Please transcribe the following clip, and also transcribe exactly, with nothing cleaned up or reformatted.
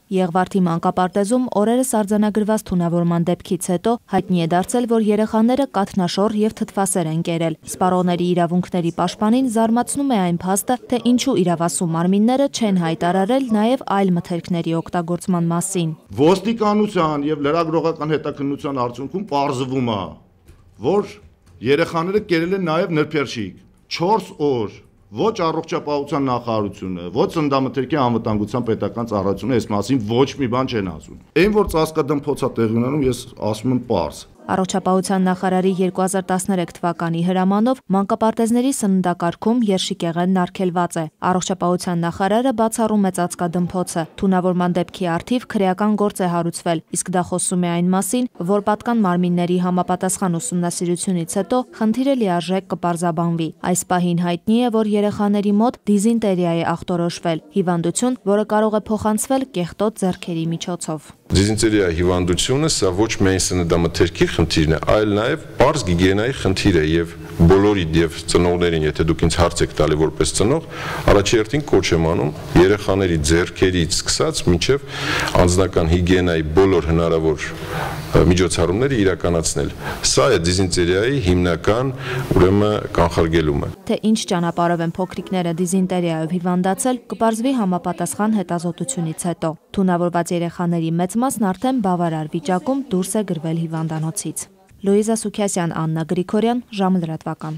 Եղվարդի մանկապարտեզում օրերս արձանագրված թունավորման դեպքից հետո հայտնի է դարձել, որ երեխաները կաթնաշոռ եւ թթվասեր են կերել։ Սպառողների իրավունքների պաշտպանին զարմացնում է այն փաստը, թե ինչու իրավասու մարմինները չեն հայտարարել նաեւ այլ մթերքների օգտագործման մասին։ Ոստիկանության եւ լրագրողական հետաքննության արդյունքում պարզվում է, որ երեխաները կերել են նաեւ նրբերշիկ չորս օր։ Ոչ առողջապահության նախարարությունը, ոչ ծննդամթերքի անվտանգության պետական ծառայությունը այս մասին ոչ մի բան չեն ասում։ Այն որ ծածկադմփոց է տեղի ունենում, ես ասում եմ պարզ։ Առողջապահության նախարարի երկու հազար տասներեք թվականի հրամանով մանկապարտեզների սննդակարգում երշիկեղենն արգելված է։ Առողջապահության նախարարը բացառում է ծածկադմփոցը։ Թունավորման դեպքի առթիվ քրեական գործ է հարուցվել, իսկ դա խոսում է այն մասին, որ պատկան մարմինների համապատասխան ուսումնասիրությունից հետո խնդիրը լիարժեք կպարզաբանվի։ Այս պահին հայտնի է, որ երեխաների մոտ դիզինտերիա է ախտորոշվել, հիվանդություն, որը կարող է փոխանցվել կեղտոտ ձեռքերի միջոցով։ Դիզինտերիա հիվանդությունը սա ոչ միայն սննդամթերքի խնդիրն է, այլ նաև պարզ գիգիենայի խնդիր է եւ բոլորիդ եւ ծնողներին, եթե դուք ինձ հարց եք տալի որպես ծնող, առաջի հերթին կոչ եմ անում երեխաների ձեռքերից սկսած մինչեւ անձնական հիգիենայի բոլոր հնարավոր միջոցառումները իրականացնել։ Սա է դիզինտերիայի հիմնական ուրեմն կանխարգելումը։ Թե ինչ ճանապարհով են փոքրիկները դիզինտերիայով հիվանդացել, կպարզվի համապատասխան հետազոտությունից հետո։ Թունավորված երեխաների մեծ մասն արդեն բավարար վիճակում դուրս է գրվել հիվանդանոցից։ Լուիզա Սուքիասյան, Աննա Գրիգորյան, ժամը լրատվական։